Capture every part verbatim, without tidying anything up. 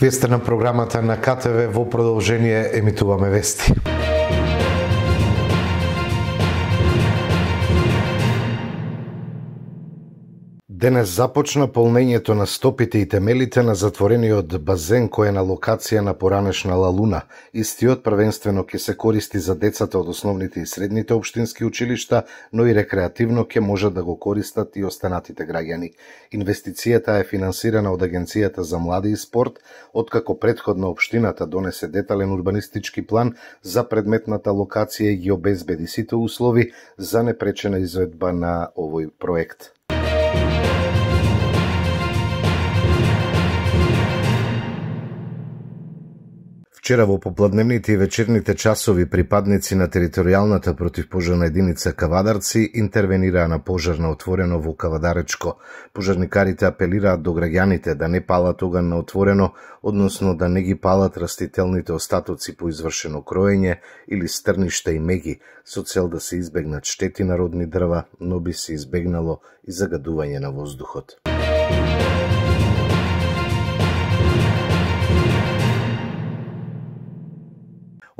Вие сте на програмата на К Т В, во продолжение емитуваме вести. Денес започна полнењето на стопите и темелите на затворениот базен кој е на локација на поранешна Лалуна. Истиот првенствено ќе се користи за децата од основните и средните општински училишта, но и рекреативно ќе можат да го користат и останатите граѓани. Инвестицијата е финансирана од Агенцијата за млади и спорт, откако претходно општината донесе детален урбанистички план за предметната локација и ги обезбеди сите услови за непречена изведба на овој проект. Вчера во попладневните и вечерните часови припадници на територијалната противпожарна единица Кавадарци интервенираа на пожар на отворено во Кавадаречко. Пожарникарите апелираат до граѓаните да не палат оган на отворено, односно да не ги палат растителните остатоци по извршено кроење или стрништа и меги, со цел да се избегнат штети на родни дрва, но би се избегнало и загадување на воздухот.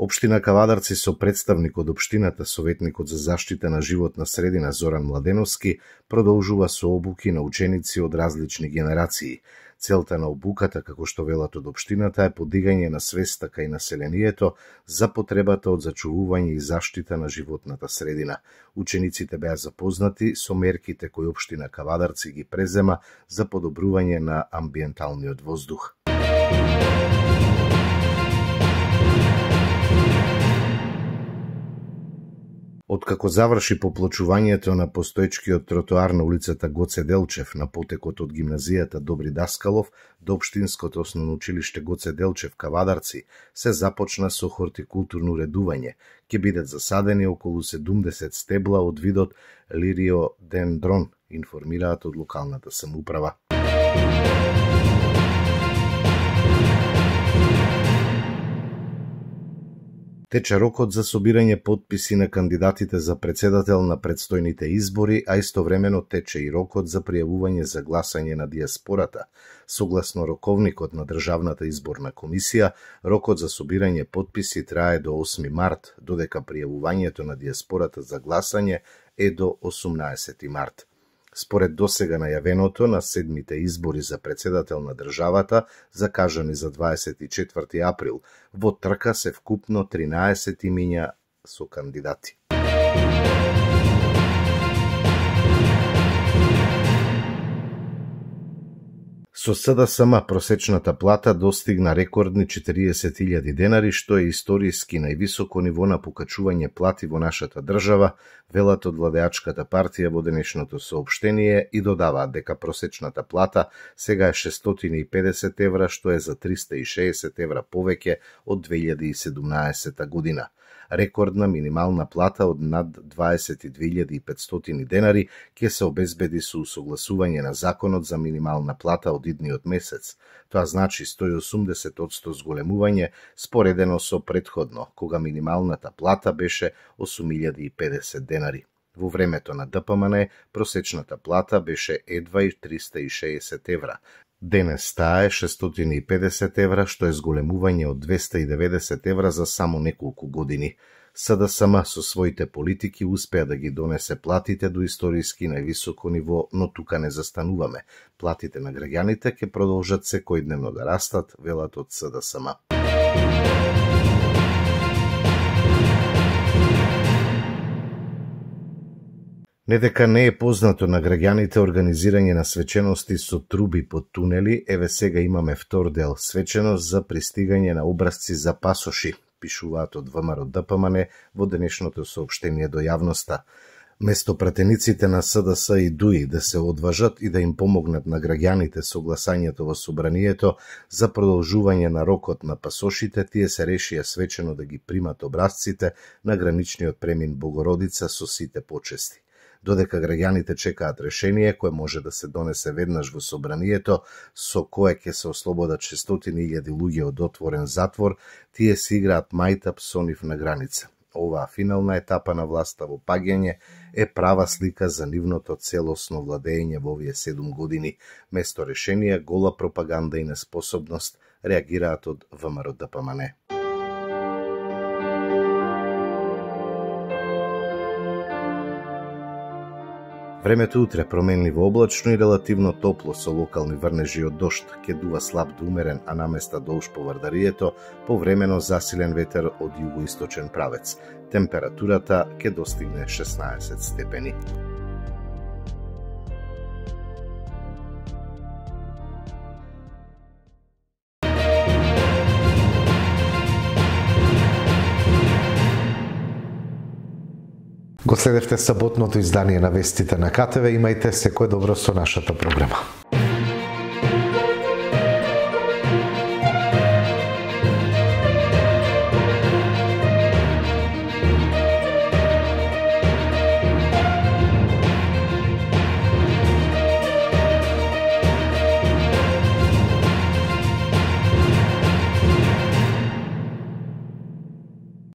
Општина Кавадарци со представник од општината, советникот за заштита на животна средина Зоран Младеновски, продолжува со обуки на ученици од различни генерации. Целта на обуката, како што велат од општината, е подигање на свеста кај населението за потребата од зачувување и заштита на животната средина. Учениците беа запознати со мерките кои општина Кавадарци ги презема за подобрување на амбиенталниот воздух. Откако заврши поплочувањето на постоечкиот тротоар на улицата Гоце Делчев на потекот од гимназијата Добри Даскалов до општинското основно училиште Гоце Делчев Кавадарци, се започна со хортикултурно редување. Ќе бидат засадени околу седумдесет стебла од видот лириодендрон, информираат од локалната самоуправа. Тече рокот за собирање потписи на кандидатите за председател на предстојните избори, а истовремено тече и рокот за пријавување за гласање на диаспората. Согласно роковникот на Државната изборна комисија, рокот за собирање потписи трае до осми март, додека пријавувањето на диаспората за гласање е до осумнаесети март. Според досега најавеното на седмите избори за председател на државата, закажани за дваесет и четврти април, во трка се вкупно тринаесет имиња со кандидати. Со С Д С М просечната плата достигна рекордни четириесет илјади денари, што е историски највисоко ниво на покачување плати во нашата држава, велат од владеачката партија во денешното соопштение и додаваат дека просечната плата сега е шестстотини и педесет евра, што е за триста и шеесет евра повеќе од две илјади и седумнаесета година. Рекордна минимална плата од над дваесет и две илјади и петстотини денари ќе се обезбеди со усогласување на законот за минимална плата од идниот месец. Тоа значи сто и осумдесет одсто зголемување споредено со претходно, кога минималната плата беше осум илјади и педесет денари. Во времето на Д П М Н просечната плата беше едва и триста и шеесет евра. Денес таа е шестстотини и педесет евра, што е зголемување од двеста и деветдесет евра за само неколку години. С Д С М со своите политики успеа да ги донесе платите до историски највисоко ниво, но тука не застануваме. Платите на граѓаните ќе продолжат секојдневно да растат, велат од С Д С М. Не дека не е познато на граѓаните организирање на свечености со труби под тунели, еве сега имаме втор дел свеченост за пристигање на образци за пасоши, пишуваат од В М Р Д П М Н во денешното соопштение до јавноста. Место пратениците на С Д С и Д У И да се одважат и да им помогнат на граѓаните со гласањето во собранието за продолжување на рокот на пасошите, тие се решија свечено да ги примат образците на граничниот премин Богородица со сите почести. Додека граѓаните чекаат решение кое може да се донесе веднаш во собранието, со кое ќе се ослободат шестстотини илјади луѓе од отворен затвор, тие си играат мајтап со нив на граница. Оваа финална етапа на власта во паѓање е права слика за нивното целосно владење во овие седум години, место решение, гола пропаганда и неспособност реагираат од ВМРО Д П М Н. Времето утре променливо облачно и релативно топло со локални врнежи од дожд, ќе дува слаб до умерен, а наместа долж по Вардарието, повремено засилен ветер од југоисточен правец. Температурата ќе достигне шеснаесет степени. Го следевте саботното издание на вестите на К Т В. Имајте секое добро со нашата програма.